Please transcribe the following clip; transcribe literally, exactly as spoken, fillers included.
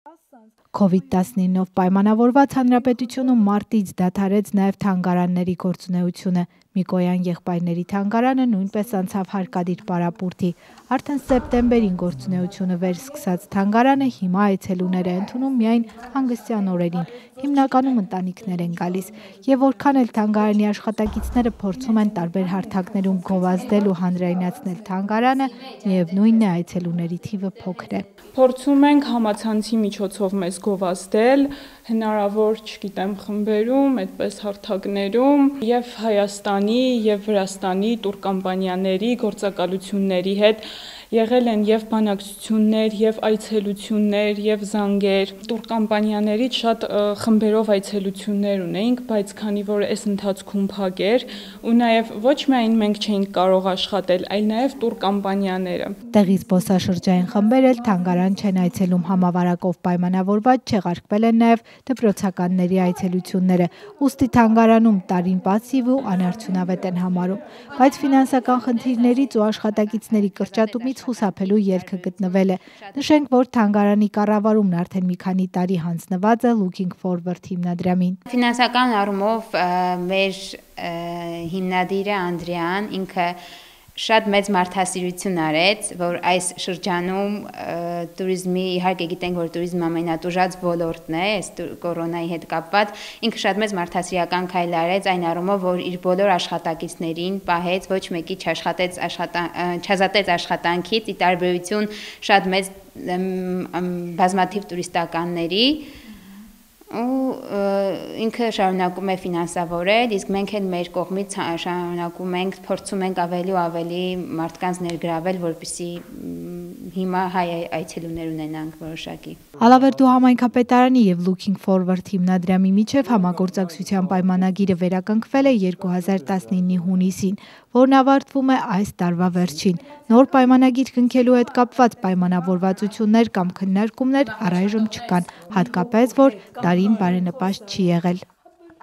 Քովիդ տասնինով պայմանավորված հանրապետությունում մարտից դադարեց նաև թանգարանների գործունեությունը։ Միկոյան եղբայրների թանգարանը նույնպես անցավ հարկադիր պարապուրդի։ Արդեն սեպտեմբերին գործունեությունը վերսկսած թանգարանը հիմա այցելուներ է ընդունում միայն հանգստյան օրերին, հիմնականում ընտանիքներ են գալիս։ Եվ որքան էլ թանգարանի աշխատակիցները փորձում են տարբեր հարթակներում գովազդել ու հանրայնացնել թանգարանը, միևնույն է այցելուների թիվը փոքր է։ Փորձում ենք համացանցի միջոցով մեզ գովազդել, հնարավոր, չգիտեմ, խմբերում, այդպես հարթակներում եւ Հայաստանի եւ Վրաստանի տուրկամպանիաների գործակալությունների հետ եղել են եւ բանակցություններ, եւ այցելություններ, եւ զանգեր։ Տուրկամպանիաներից շատ խմբերով այցելություններ ունեինք, բայց քանի որ այս ընթացքում փակ էր, ու նաեւ ոչ միայն մենք չէինք կարող աշխատել, այլ նաեւ տուրկամպանիաները։ Տեղի զբոսաշրջային խմբեր էլ թանգարան չեն այցելում, համավարակով պայմանավորված չեղարկվել են նաեւ դպրոցականների այցելությունները, ուստի թանգարանում տարին պասիվ ու անարդյունավետ են համարում, բայց ֆինանսական խնդիրներից ու աշխատակիցների կրճատումից խուսափելու ելքը գտնվել է։ Նշենք, որ թանգարանի կառավարումն արդեն մի քանի տարի հանձնված է Looking Forward հիմնադրամին։ Ֆինանսական առումով մեր հիմնադիրը Անդրեան ինքը շատ մեծ մարդասիրություն արեց, որ այս շրջանում туриզմի, իհարկե գիտենք, որ туриզմը ամենատուժած ոլորտն է, այս կորոնայի հետ կապված, ինքը շատ մեծ մարդասիրական քայլ արեց այն առումով, որ իր բոլոր աշխատակիցներին պահեց, ոչ մեկի չաշխատեց չազատեց աշխատանքից, ի տարբերություն շատ մեծ բազմաթիվ տուրիստականների, ու ինքը շարունակում է ֆինանսավորել, իսկ մենք էլ մեր կողմից շարունակում ենք, փորձում ենք ավելի ու ավելի մարդկանց ներգրավել, որպեսզի հիմա հայ այցելուներ ունենանք որոշակի։ Ալավերդու համայնքապետարանի եւ Looking Forward հիմնադրամի միջև համագործակցության պայմանագիրը վերականգնվել է երկու հազար տասնինի հունիսին, որն ավարտվում է այս տարվա վերջին։ Նոր պայմանագիր կնքելու հետ կապված պայմանավորվածություններ կամ քննարկումներ առայժմ չկան, հատկապես որ տարին բարենպաստ չի եղել։